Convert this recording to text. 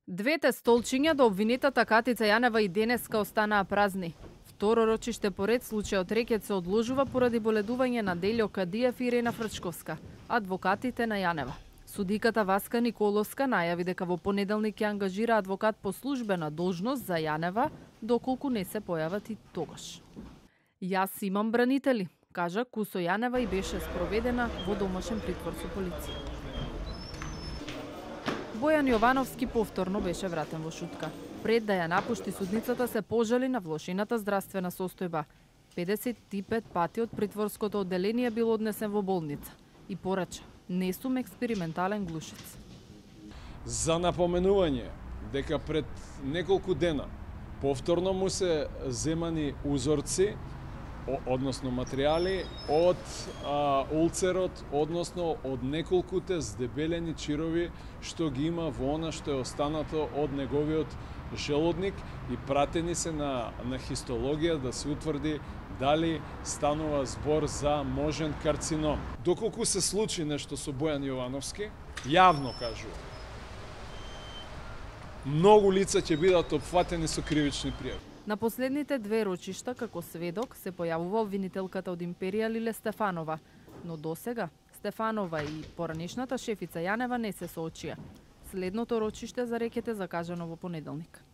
Двете столчиња до обвинетата Катица Јанева и денеска останаа празни. Второ рочиште поред случајот Рекет се одложува поради боледување на Делјо Кадиев и Ирена Фрчковска, адвокатите на Јанева. Судиката Васка Николовска најави дека во понеделник ќе ангажира адвокат по службена должност за Јанева, доколку не се појават и тогаш. Јас имам бранители, кажа Кусо Јанева и беше спроведена во домашен притвор со полиција. Бојан Јовановски повторно беше вратен во Шутка. Пред да ја напушти судницата се пожали на влошената здравствена состојба. 55 пати од притворското одделение бил однесен во болница и порача: не сум експериментален глушец. За напоменување дека пред неколку дена повторно му се земани узорци, односно материјали од улцерот, односно од неколкуте здебелени чирови што ги има во она што е останато од неговиот желудник и пратени се на хистологија да се утврди дали станува збор за можен карцином. Доколку се случи нешто со Бојан Јовановски, јавно кажува, многу лица ќе бидат опфатени со кривични пријави. На последните две рочишта како сведок се појавува обвинителката од Империја Лиле Стефанова, но досега Стефанова и поранешната шефица Јанева не се соочија. Следното рочиште за Рекет е закажано во понеделник.